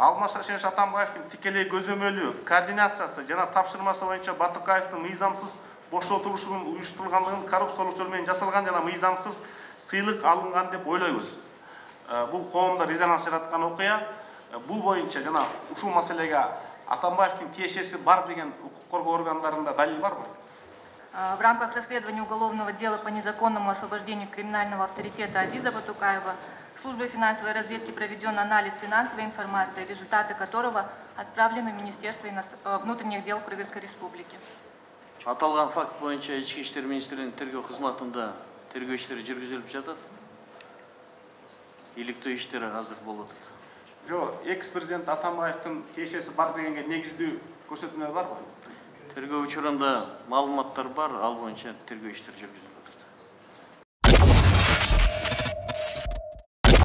Алмаз Шаршенович Атамбаевдин тикелей көзөмөлү, координациясы жана тапшырмасы боюнча Батыкаевдин мыйзамсыз бошотулушунун уюштурулгандыгын коррупциялык жол менен жасалган жана мыйзамсыз сыйлык алынган деп ойлойбуз. Бул коомдо резонанс жараткан окуя. Бул боюнча жана ушул маселеге Атамбаевдин тиешеси бар деген укук коргоо органдарында далил барбы? В рамках расследования уголовного дела по незаконному освобождению криминального авторитета Азиза Батукаева службой финансовой разведки проведен анализ финансовой информации, результаты которого отправлены в Министерство внутренних дел Кыргызской Республики. Аталган факт боюнча Ички иштер министрлигинин тергөө кызматында тергөө иштери жүргүзүлүп жатат. Иликтөө иштери азыр болуп атат. Жок, экс-президент Атамбаевдин тиешеси бар дегенге негиздүү көрсөтмө барбы? Тергөө учурунда маалыматтар бар, ал боюнча тергөө иштери жүргүзүлөт.